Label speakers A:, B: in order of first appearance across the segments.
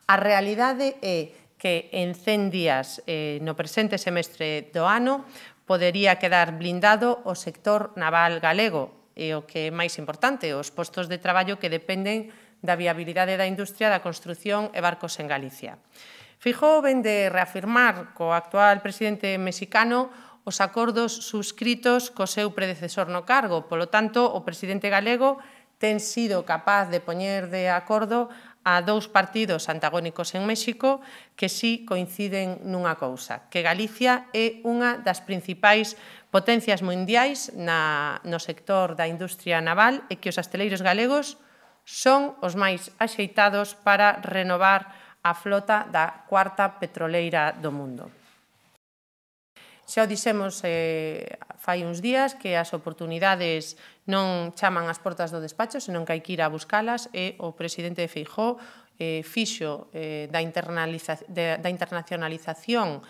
A: A realidade é que en 100 días no presente semestre do ano podería quedar blindado o sector naval galego e o que é máis importante, os postos de traballo que dependen da viabilidade da industria da construción e barcos en Galicia. Feijóo vén de reafirmar co actual presidente mexicano os acordos suscritos co seu predecesor no cargo. Polo tanto, o presidente galego ten sido capaz de poñer de acordo a dous partidos antagónicos en México que sí coinciden nunha cousa, que Galicia é unha das principais potencias mundiais no sector da industria naval e que os asteleiros galegos son os máis axeitados para renovar a flota da cuarta petroleira do mundo. Xa o dixemos fai uns días que as oportunidades non chaman ás portas do despacho, senón que hai que ir a buscalas e o presidente Feijóo fixo da internacionalización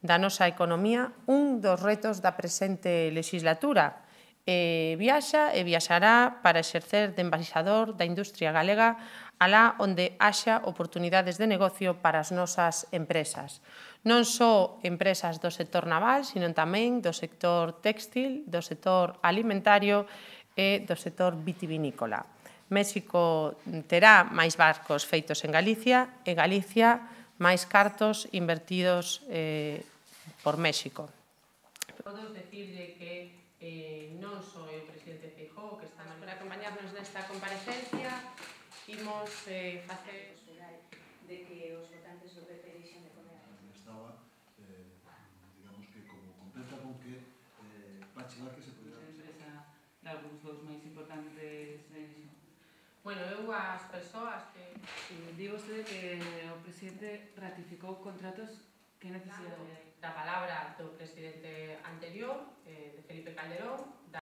A: da nosa economía un dos retos da presente legislatura. Viaxa e viaxará para exercer de embaixador da industria galega alá onde haxa oportunidades de negocio para as nosas empresas. Non só empresas do sector naval, sino tamén do sector téxtil, do sector alimentario e do sector vitivinícola. México terá máis barcos feitos en Galicia e Galicia máis cartos invertidos por México. Podo dicirlle que non só é o presidente Feijóo que está para acompañarnos nesta comparecencia, imos facer
B: de que os votantes do PP deixen de comer.
C: Estaba, digamos que como completa con que Pachi Vázquez se podía...
D: Empresa dalgúns dos máis importantes
A: Bueno, eu as persoas que...
D: Digo vostede que o presidente ratificou contratos que necesidade
A: da palabra do presidente anterior, de Felipe Calderón,